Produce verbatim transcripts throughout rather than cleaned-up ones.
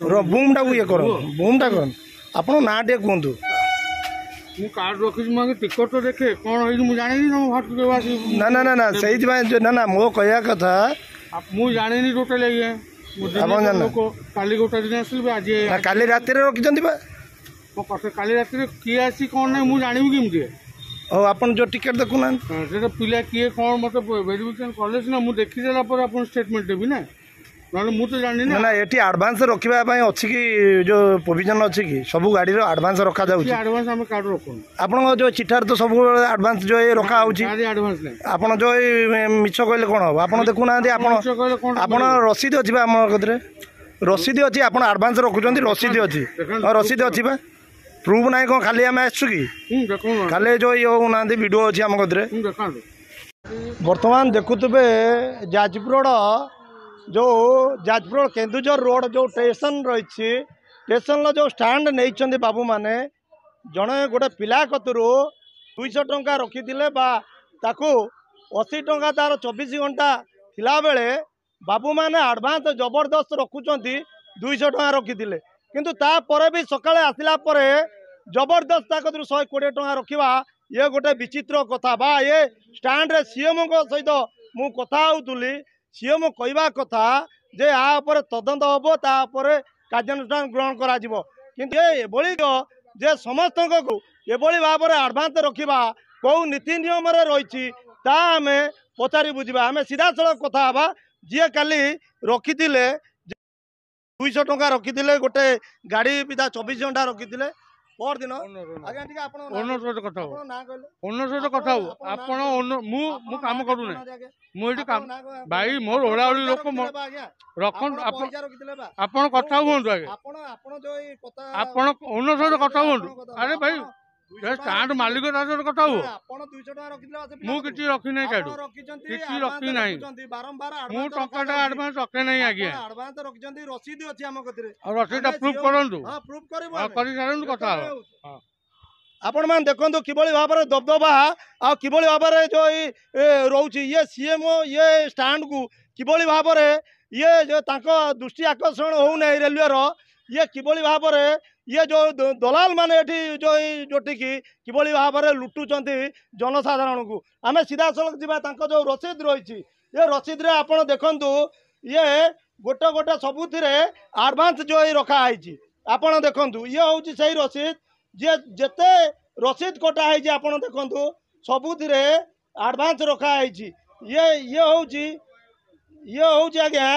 ବୁମ୍ଟାକୁ ଇଏ କରନ୍ତୁ, ବୁମ୍ଟା କରନ୍ତୁ। ଆପଣ ନାଁ ଟିକେ କୁହନ୍ତୁ। ମୁଁ କାର୍ଡ଼ ରଖିଛି, ମୁଁ ଆଗେ ଟିକଟ ତ ଦେଖେ କ'ଣ ହେଇଛି। ମୁଁ ଜାଣିନି ତମ ଘରକୁ ଆସି। ନା ନା ନା ନା, ସେଇଥିପାଇଁ ନା ନା, ମୋ କହିବା କଥା ମୁଁ ଜାଣିନି ଟୋଟାଲି ଆଜ୍ଞା। ଆପଣ ଜାଣିନ? ଲୋକ କାଲି ଗୋଟେ ଦିନ ଆସିଲି, ଆଜି ନା, କାଲି ରାତିରେ ରଖିଛନ୍ତି ବା। କାଲି ରାତିରେ କିଏ ଆସି କ'ଣ ନାହିଁ ମୁଁ ଜାଣିବି କେମିତି? ହଉ, ଆପଣ ଯୋଉ ଟିକେଟ ଦେଖୁନାହାନ୍ତି। ସେଟା ପିଲା କିଏ କ'ଣ ମୋତେ ଭେରିଫିକେସନ କଲେ ସିନା, ମୁଁ ଦେଖିଦେଲା ପରେ ଆପଣ ଷ୍ଟେଟମେଣ୍ଟ ଦେବି ନା, ନହେଲେ ମୁଁ ତ ଜାଣିନି। ନା ନା, ଏଠି ଆଡଭାନ୍ସ ରଖିବା ପାଇଁ ଅଛି କି? ଯୋଉ ପ୍ରୋଭିଜନ ଅଛି କି? ସବୁ ଗାଡ଼ିର ଆଡଭାନ୍ସ ରଖାଯାଉଛି? ଆଡଭାନ୍ସ ଆମେ କାର୍ଡ଼ ରଖୁନୁ। ଆପଣଙ୍କ ଯୋଉ ଚିଠାରେ ତ ସବୁବେଳେ ଆଡଭାନ୍ସ ଯୋଉ ଏଇ ରଖା ହଉଛି। ଆଡଭାନ୍ସ ନାହିଁ। ଆପଣ ଯୋଉ ଏଇ ମିଛ କହିଲେ କ'ଣ ହବ? ଆପଣ ଦେଖୁନାହାନ୍ତି। ଆପଣ ଆପଣ ରସିଦ ଅଛି ବା? ଆମ କତିରେ ରସିଦ ଅଛି। ଆପଣ ଆଡଭାନ୍ସ ରଖୁଛନ୍ତି, ରସିଦ ଅଛି। ହଁ, ରସିଦ ଅଛି ବା। ପ୍ରୁଫ୍ ନାହିଁ କ'ଣ? ଖାଲି ଆମେ ଆସିଛୁ କି? ଖାଲି ଯୋଉ ଇଏ ହଉନାହାନ୍ତି, ଭିଡ଼ିଓ ଅଛି ଆମ କତିରେ। ବର୍ତ୍ତମାନ ଦେଖୁଥିବେ ଯାଜପୁର ରୋଡ଼, ଯେଉଁ ଯାଜପୁର ରୋଡ଼ କେନ୍ଦୁଝର ରୋଡ଼ ଯେଉଁ ଷ୍ଟେସନ ରହିଛି, ଷ୍ଟେସନର ଯେଉଁ ଷ୍ଟାଣ୍ଡ ନେଇଛନ୍ତି ବାବୁମାନେ, ଜଣେ ଗୋଟେ ପିଲା କତିରୁ ଦୁଇଶହ ଟଙ୍କା ରଖିଥିଲେ ବା ତାକୁ ଅଶୀ ଟଙ୍କା ତାର ଚବିଶ ଘଣ୍ଟା ଥିଲାବେଳେ ବାବୁମାନେ ଆଡ଼ଭାନ୍ସ ଜବରଦସ୍ତ ରଖୁଛନ୍ତି। ଦୁଇଶହ ଟଙ୍କା ରଖିଥିଲେ, କିନ୍ତୁ ତାପରେ ବି ସକାଳେ ଆସିଲା ପରେ ଜବରଦସ୍ତ ତା କତିରୁ ଶହେ କୋଡ଼ିଏ ଟଙ୍କା ରଖିବା ଇଏ ଗୋଟେ ବିଚିତ୍ର କଥା ବା। ଏ ଷ୍ଟାଣ୍ଡରେ ସିଏମ୍ଙ୍କ ସହିତ ମୁଁ କଥା ହେଉଥିଲି। ସିଏମ୍ କହିବା କଥା ଯେ ଆ ଉପରେ ତଦନ୍ତ ହେବ, ତା ଉପରେ କାର୍ଯ୍ୟାନୁଷ୍ଠାନ ଗ୍ରହଣ କରାଯିବ। କିନ୍ତୁ ଏ ଏଭଳି ଯେ ସମସ୍ତଙ୍କୁ ଏଭଳି ଭାବରେ ଆଡ଼ଭାନ୍ସ ରଖିବା କେଉଁ ନୀତି ନିୟମରେ ରହିଛି, ତା ଆମେ ପଚାରି ବୁଝିବା। ଆମେ ସିଧାସଳଖ କଥା ହେବା ଯିଏ କାଲି ରଖିଥିଲେ, ଦୁଇଶହ ଟଙ୍କା ରଖିଥିଲେ, ଗୋଟେ ଗାଡ଼ି ପିଛା ଚବିଶ ଘଣ୍ଟା ରଖିଥିଲେ ପରଦିନ। ଆଜ୍ଞା, ଟିକେ ଆପଣ ଓନର ସହିତ କଥା ହବ, ଓନର ସହିତ କଥା ହବ ଆପଣ। ମୁଁ ମୁଁ କାମ କରୁନାହିଁ, ମୁଁ ଏଠି କାମ ଭାଇ, ମୋର ଓଳାଓଳି ଲୋକ ରଖନ୍ତୁ। ଆପଣ ଆପଣ କଥା ହୁଅନ୍ତୁ ଆଜ୍ଞା, ଆପଣ ଓନର ସହିତ କଥା ହୁଅନ୍ତୁ। ଆରେ ଭାଇ, ଷ୍ଟାଣ୍ଡ ମାଲିକ, ତା ସହିତ କଥା ହୁଅ। ମୁଁ କିଛି ରଖିନାହିଁ କାଠୁ, କିଛି ରଖିନାହିଁ ମୁଁ। ଟଙ୍କାଟା ଆଡଭାନ୍ସ ରଖେ ନାହିଁ ଆଜ୍ଞା। ଆଡଭାନ୍ସ ରଖିଛନ୍ତି, ରସିଦ ଅଛି ଆମ କତିରେ। ଆଉ ରସିଦଟା ପ୍ରୁଫ୍ କରନ୍ତୁ, କରିସାରନ୍ତୁ, କଥା ହବ। ଆପଣମାନେ ଦେଖନ୍ତୁ କିଭଳି ଭାବରେ ଦବଦବା ଆଉ କିଭଳି ଭାବରେ ଯେଉଁ ଏଇ ରହୁଛି। ଇଏ ସିଏମ୍ଓ ଇଏ ଷ୍ଟାଣ୍ଡକୁ କିଭଳି ଭାବରେ ଇଏ ଯେଉଁ ତାଙ୍କ ଦୃଷ୍ଟି ଆକର୍ଷଣ ହେଉନାହିଁ ରେଲୱେର। ଇଏ କିଭଳି ଭାବରେ ଇଏ ଯେଉଁ ଦଲାଲ ମାନେ ଏଠି ଯେଉଁ ଯୋଉଠିକି କିଭଳି ଭାବରେ ଲୁଟୁଛନ୍ତି ଜନସାଧାରଣଙ୍କୁ। ଆମେ ସିଧାସଳଖ ଯିବା ତାଙ୍କ ଯେଉଁ ରସିଦ ରହିଛି, ଏ ରସିଦରେ ଆପଣ ଦେଖନ୍ତୁ, ଇଏ ଗୋଟେ ଗୋଟେ ସବୁଥିରେ ଆଡ଼ଭାନ୍ସ ଯେଉଁ ଏଇ ରଖା ହେଇଛି। ଆପଣ ଦେଖନ୍ତୁ, ଇଏ ହେଉଛି ସେଇ ରସିଦ। ଯିଏ ଯେତେ ରସିଦ କଟା ହେଇଛି ଆପଣ ଦେଖନ୍ତୁ, ସବୁଥିରେ ଆଡ଼ଭାନ୍ସ ରଖା ହେଇଛି। ଇଏ ଇଏ ହେଉଛି ଇଏ ହେଉଛି ଆଜ୍ଞା,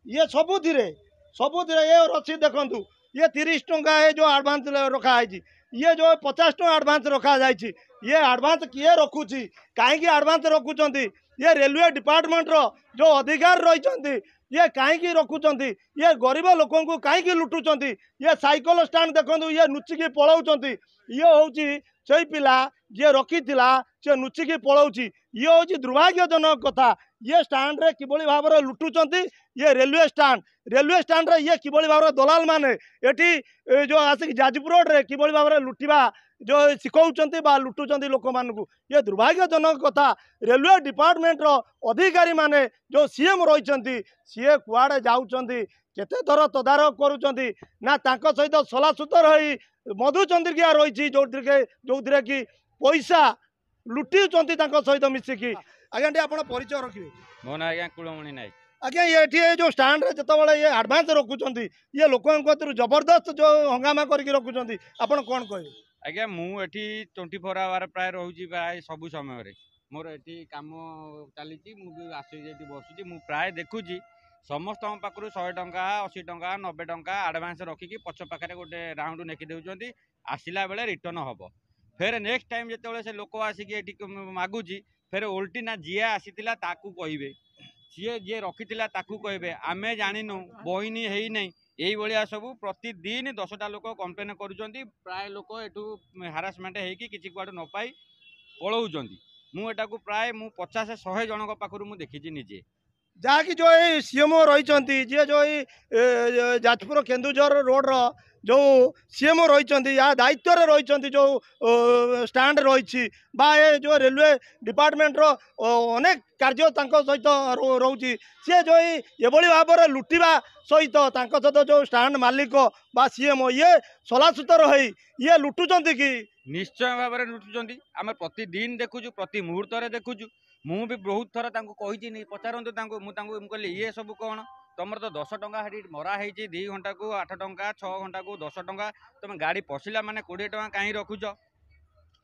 ଇଏ ସବୁଥିରେ ସବୁଥିରେ ଏ ରସିଦ ଦେଖନ୍ତୁ। ଇଏ ତିରିଶ ଟଙ୍କା ଏ ଯେଉଁ ଆଡ଼ଭାନ୍ସ ରଖା ହେଇଛି, ଇଏ ଯେଉଁ ପଚାଶ ଟଙ୍କା ଆଡ଼ଭାନ୍ସ ରଖାଯାଇଛି। ଇଏ ଆଡ଼ଭାନ୍ସ କିଏ ରଖୁଛି? କାହିଁକି ଆଡ଼ଭାନ୍ସ ରଖୁଛନ୍ତି? ଇଏ ରେଲୱେ ଡିପାର୍ଟମେଣ୍ଟର ଯେଉଁ ଅଧିକାର ରହିଛନ୍ତି, ଇଏ କାହିଁକି ରଖୁଛନ୍ତି? ଇଏ ଗରିବ ଲୋକଙ୍କୁ କାହିଁକି ଲୁଟୁଛନ୍ତି? ଇଏ ସାଇକେଲ ଷ୍ଟାଣ୍ଡ ଦେଖନ୍ତୁ, ଇଏ ଲୁଚିକି ପଳାଉଛନ୍ତି। ଇଏ ହେଉଛି ସେଇ ପିଲା ଯିଏ ରଖିଥିଲା, ସେ ଲୁଚିକି ପଳାଉଛି। ଇଏ ହେଉଛି ଦୁର୍ଭାଗ୍ୟଜନକ କଥା। ଇଏ ଷ୍ଟାଣ୍ଡରେ କିଭଳି ଭାବରେ ଲୁଟୁଛନ୍ତି। ଇଏ ରେଲୱେ ଷ୍ଟାଣ୍ଡ, ରେଲୱେ ଷ୍ଟାଣ୍ଡରେ ଇଏ କିଭଳି ଭାବରେ ଦଲାଲ ମାନେ ଏଠି ଯେଉଁ ଆସିକି ଯାଜପୁର ରୋଡ଼ରେ କିଭଳି ଭାବରେ ଲୁଟିବା ଯେଉଁ ଶିଖାଉଛନ୍ତି ବା ଲୁଟୁଛନ୍ତି ଲୋକମାନଙ୍କୁ, ଇଏ ଦୁର୍ଭାଗ୍ୟଜନକ କଥା। ରେଲୱେ ଡିପାର୍ଟମେଣ୍ଟର ଅଧିକାରୀମାନେ ଯେଉଁ ସିଏମ୍ ରହିଛନ୍ତି, ସିଏ କୁଆଡ଼େ ଯାଉଛନ୍ତି? କେତେ ଥର ତଦାରଖ କରୁଛନ୍ତି ନା ତାଙ୍କ ସହିତ ସଲାସୁତର ହେଇ ମଧୁଚନ୍ଦ୍ରିକା ରହିଛି, ଯେଉଁଥିରେ ଯେଉଁଥିରେ କି ପଇସା ଲୁଟିଛନ୍ତି ତାଙ୍କ ସହିତ ମିଶିକି। ଆଜ୍ଞା, ଟିକେ ଆପଣ ପରିଚୟ ରଖିବେ। ମୋ ନାଁ ଆଜ୍ଞା କୁଳମଣି ନାୟକ। ଆଜ୍ଞା, ଏଠି ଏ ଯେଉଁ ଷ୍ଟାଣ୍ଡରେ ଯେତେବେଳେ ଇଏ ଆଡ଼ଭାନ୍ସ ରଖୁଛନ୍ତି, ଇଏ ଲୋକଙ୍କ କତିରୁ ଜବରଦସ୍ତ ଯେଉଁ ହଙ୍ଗାମା କରିକି ରଖୁଛନ୍ତି, ଆପଣ କ'ଣ କହିବେ? ଆଜ୍ଞା, ମୁଁ ଏଠି ଟ୍ୱେଣ୍ଟି ଫୋର୍ ଆୱାର ପ୍ରାୟ ରହୁଛି। ପ୍ରାୟ ସବୁ ସମୟରେ ମୋର ଏଠି କାମ ଚାଲିଛି। ମୁଁ ବି ଆସିକି ଏଠି ବସୁଛି। ମୁଁ ପ୍ରାୟ ଦେଖୁଛି ସମସ୍ତଙ୍କ ପାଖରୁ ଶହେ ଟଙ୍କା, ଅଶୀ ଟଙ୍କା, ନବେ ଟଙ୍କା ଆଡ଼ଭାନ୍ସ ରଖିକି ପଛ ପାଖରେ ଗୋଟେ ରାଉଣ୍ଡ ନେଖି ଦେଉଛନ୍ତି, ଆସିଲା ବେଳେ ରିଟର୍ଣ୍ଣ ହେବ। ଫେର ନେକ୍ସଟ ଟାଇମ୍ ଯେତେବେଳେ ସେ ଲୋକ ଆସିକି ଏଠି ମାଗୁଛି, ଫେର ଓଲଟି ନା ଯିଏ ଆସିଥିଲା ତାକୁ କହିବେ, ସିଏ ଯିଏ ରଖିଥିଲା ତାକୁ କହିବେ, ଆମେ ଜାଣିନୁ, ବହିନି ହେଇନାହିଁ। ଏଇଭଳିଆ ସବୁ ପ୍ରତିଦିନ ଦଶଟା ଲୋକ କମ୍ପ୍ଲେନ୍ କରୁଛନ୍ତି। ପ୍ରାୟ ଲୋକ ଏଠୁ ହାରାସମେଣ୍ଟ ହେଇକି କିଛି କୁଆଡ଼ୁ ନ ପାଇ ପଳାଉଛନ୍ତି। ମୁଁ ଏଟାକୁ ପ୍ରାୟ ମୁଁ ପଚାଶ ଶହେ ଜଣଙ୍କ ପାଖରୁ ମୁଁ ଦେଖିଛି ନିଜେ। ଯାହାକି ଯେଉଁ ଏଇ ସିଏମ୍ଓ ରହିଛନ୍ତି, ଯିଏ ଯେଉଁ ଏଇ ଯାଜପୁର କେନ୍ଦୁଝର ରୋଡ଼ର ଯେଉଁ ସିଏମ୍ଓ ରହିଛନ୍ତି ୟା ଦାୟିତ୍ୱରେ ରହିଛନ୍ତି, ଯେଉଁ ଷ୍ଟାଣ୍ଡ ରହିଛି ବା ଏ ଯେଉଁ ରେଲୱେ ଡିପାର୍ଟମେଣ୍ଟର ଅନେକ କାର୍ଯ୍ୟ ତାଙ୍କ ସହିତ ରହୁଛି, ସିଏ ଯେଉଁ ଏଭଳି ଭାବରେ ଲୁଟିବା ସହିତ ତାଙ୍କ ସହିତ ଯେଉଁ ଷ୍ଟାଣ୍ଡ ମାଲିକ ବା ସିଏମ୍ଓ ଇଏ ସଲାସୁତର ହେଇ ଇଏ ଲୁଟୁଛନ୍ତି କି? ନିଶ୍ଚୟ ଭାବରେ ଲୁଟୁଛନ୍ତି। ଆମେ ପ୍ରତିଦିନ ଦେଖୁଛୁ, ପ୍ରତି ମୁହୂର୍ତ୍ତରେ ଦେଖୁଛୁ। ମୁଁ ବି ବହୁତ ଥର ତାଙ୍କୁ କହିଛି, ପଚାରନ୍ତୁ ତାଙ୍କୁ। ମୁଁ ତାଙ୍କୁ ମୁଁ କହିଲି ଇଏ ସବୁ କ'ଣ ତମର ତ ଦଶ ଟଙ୍କା ସେଠି ମରା ହେଇଛି, ଦୁଇ ଘଣ୍ଟାକୁ ଆଠ ଟଙ୍କା, ଛଅ ଘଣ୍ଟାକୁ ଦଶ ଟଙ୍କା, ତମେ ଗାଡ଼ି ପଶିଲା ମାନେ କୋଡ଼ିଏ ଟଙ୍କା କାହିଁ ରଖୁଛ,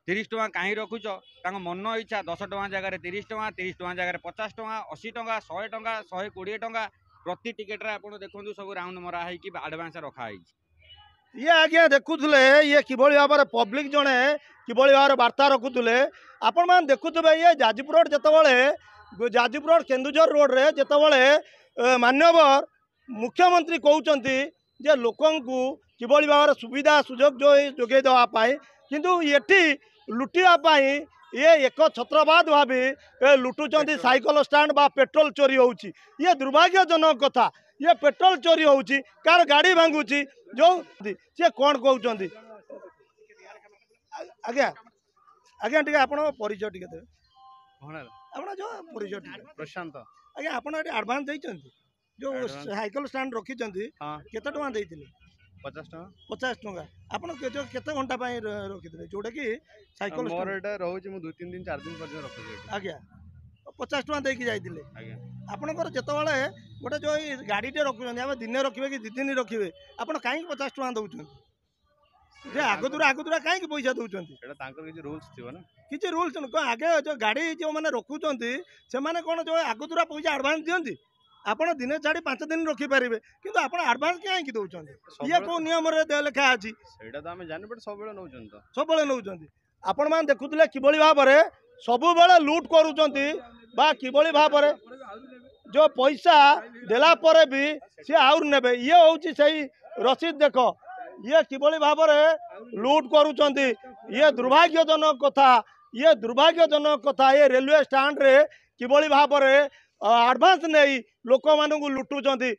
ତିରିଶ ଟଙ୍କା କାହିଁ ରଖୁଛ? ତାଙ୍କ ମନ ଇଚ୍ଛା ଦଶ ଟଙ୍କା ଜାଗାରେ ତିରିଶ ଟଙ୍କା, ତିରିଶ ଟଙ୍କା ଜାଗାରେ ପଚାଶ ଟଙ୍କା, ଅଶୀ ଟଙ୍କା, ଶହେ ଟଙ୍କା, ଶହେ କୋଡ଼ିଏ ଟଙ୍କା ପ୍ରତି ଟିକେଟରେ। ଆପଣ ଦେଖନ୍ତୁ ସବୁ ରାଉଣ୍ଡ ମରା ହେଇକି ଆଡ଼ଭାନ୍ସ ରଖା ହେଇଛି। ଇଏ ଆଜ୍ଞା ଦେଖୁଥିଲେ ଇଏ କିଭଳି ଭାବରେ ପବ୍ଲିକ ଜଣେ କିଭଳି ଭାବରେ ବାର୍ତ୍ତା ରଖୁଥିଲେ। ଆପଣମାନେ ଦେଖୁଥିବେ ଇଏ ଯାଜପୁର ରୋଡ଼, ଯେତେବେଳେ ଯାଜପୁର ରୋଡ଼ କେନ୍ଦୁଝର ରୋଡ଼ରେ ଯେତେବେଳେ ମାନ୍ୟବର ମୁଖ୍ୟମନ୍ତ୍ରୀ କହୁଛନ୍ତି ଯେ ଲୋକଙ୍କୁ କିଭଳି ଭାବରେ ସୁବିଧା ସୁଯୋଗ ଯୋଗାଇ ଦେବା ପାଇଁ, କିନ୍ତୁ ଏଠି ଲୁଟିବା ପାଇଁ ଇଏ ଏକ ଛତ୍ରବାଦ ଭାବି ଏ ଲୁଟୁଛନ୍ତି। ସାଇକେଲ ଷ୍ଟାଣ୍ଡ ବା ପେଟ୍ରୋଲ ଚୋରି ହେଉଛି, ଇଏ ଦୁର୍ଭାଗ୍ୟଜନକ କଥା। ଇଏ ପେଟ୍ରୋଲ ଚୋରି ହେଉଛି, କାହାର ଗାଡ଼ି ଭାଙ୍ଗୁଛି, ଯେଉଁ ସିଏ କ'ଣ କହୁଛନ୍ତି? ଆଜ୍ଞା ଆଜ୍ଞା, ଟିକେ ଆପଣଙ୍କ ପରିଚୟ ଟିକେ ଦେବେ। ଆପଣ ଯେଉଁ ପରିଚୟ ଟିକେ। ପ୍ରଶାନ୍ତ। ଆଜ୍ଞା, ଆପଣ ଏଠି ଆଡ଼ଭାନ୍ସ ଦେଇଛନ୍ତି, ଯେଉଁ ସାଇକେଲ ଷ୍ଟାଣ୍ଡ ରଖିଛନ୍ତି, କେତେ ଟଙ୍କା ଦେଇଥିଲେ? ପଚାଶ ଟଙ୍କା। ପଚାଶ ଟଙ୍କା। ଆପଣ କେତେ ଘଣ୍ଟା ପାଇଁ ରଖିଥିଲେ ଯୋଉଟାକି ସାଇକେଲ? ମୋର ଏଇଟା ରହୁଛି, ମୁଁ ଦୁଇ ତିନି ଦିନ ଚାରି ଦିନ ପର୍ଯ୍ୟନ୍ତ ରଖୁଛି। ଆଜ୍ଞା, ପଚାଶ ଟଙ୍କା ଦେଇକି ଯାଇଥିଲେ। ଆଜ୍ଞା। ଆପଣଙ୍କର ଯେତେବେଳେ ଗୋଟେ ଯେଉଁ ଏଇ ଗାଡ଼ିଟେ ରଖୁଛନ୍ତି, ଆମେ ଦିନେ ରଖିବେ କି ଦୁଇ ଦିନ ରଖିବେ, ଆପଣ କାହିଁକି ପଚାଶ ଟଙ୍କା ଦେଉଛନ୍ତି? ଯେ ଆଗତୁରା ଆଗତୁରା କାହିଁକି ପଇସା ଦେଉଛନ୍ତି? ସେଇଟା ତାଙ୍କର କିଛି ରୁଲ୍ସ ଥିବ ନା? କିଛି ରୁଲ୍ସ କ'ଣ ଆଗେ? ଯେଉଁ ଗାଡ଼ି ଯେଉଁମାନେ ରଖୁଛନ୍ତି ସେମାନେ କ'ଣ ଯେଉଁ ଆଗତୁରା ପଇସା ଆଡ଼ଭାନ୍ସ ଦିଅନ୍ତି? ଆପଣ ଦିନେ ଛାଡ଼ି ପାଞ୍ଚ ଦିନ ରଖିପାରିବେ, କିନ୍ତୁ ଆପଣ ଆଡ଼ଭାନ୍ସ କାହିଁକି ଦେଉଛନ୍ତି? ଇଏ କେଉଁ ନିୟମରେ ଲେଖା ଅଛି? ସେଇଟା ତ ଆମେ ଜାଣିନୁ, ବଟ୍ ସବୁବେଳେ ନେଉଛନ୍ତି ତ। ସବୁବେଳେ ନେଉଛନ୍ତି। ଆପଣମାନେ ଦେଖୁଥିଲେ କିଭଳି ଭାବରେ ସବୁବେଳେ ଲୁଟ୍ କରୁଛନ୍ତି ବା କିଭଳି ଭାବରେ ଯେଉଁ ପଇସା ଦେଲା ପରେ ବି ସିଏ ଆହୁରି ନେବେ। ଇଏ ହେଉଛି ସେଇ ରସିଦ ଦେଖ, ଇଏ କିଭଳି ଭାବରେ ଲୁଟ୍ କରୁଛନ୍ତି। ଇଏ ଦୁର୍ଭାଗ୍ୟଜନକ କଥା, ଇଏ ଦୁର୍ଭାଗ୍ୟଜନକ କଥା। ଏ ରେଲୱେ ଷ୍ଟାଣ୍ଡରେ କିଭଳି ଭାବରେ ଆଡ଼ଭାନ୍ସ ନେଇ ଲୋକମାନଙ୍କୁ ଲୁଟୁଛନ୍ତି।